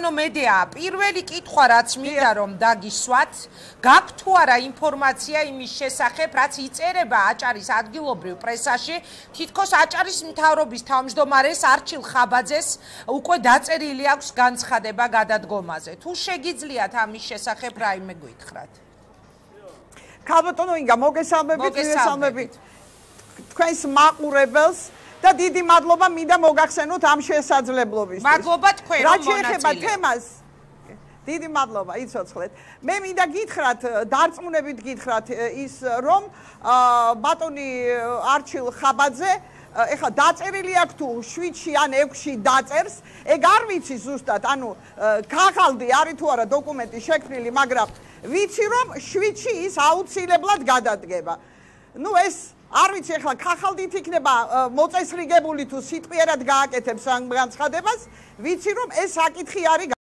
მედია პირველი კითხვა რაც მინდა რომ დაგისვათ გაქვთ თუ არა ინფორმაცია იმის შესახებ რაც იწერება აჭარის ადგილობრივ პრესაში თითქოს აჭარის მთავრობის თავმჯდომარეს არჩილ ხაბაძეს უკვე დაწერილი აქვს განცხადება გადადგომაზე თუ შეგიძლიათ ამის შესახებ რაიმე გითხრათ ქალბატონო ინგა მოგესალმებით თქვენს მაყურებელს და დიდი მადლობა მინდა მოგახსენოთ ამ შესაძლებლობისთვის. მადლობა თქვენ რომ მონაწილეობთ. რაც შეეხება თემას, დიდი მადლობა, იცოცხლეთ. მე მინდა გითხრათ, დარწმუნებით გითხრათ ის რომ ბატონი არჩილ ხაბაძე ეხლა დაწერილი აქვს თუ 7-ში ან 6-ში დაწერს, ეგ არ ვიცი ზუსტად, ანუ ქაღალდი არის თუ არა დოკუმენტი შექმნილი, მაგრამ ვიცი რომ 7-ში ის აუცილებლად გადადგება. ნუ ეს არ ვიცი ახლა ქაღალდით იქნება მოწესრიგებული თუ სიტყვიერად გააკეთებს ამ განცხადებას, ვიცი რომ ეს საკითხი არის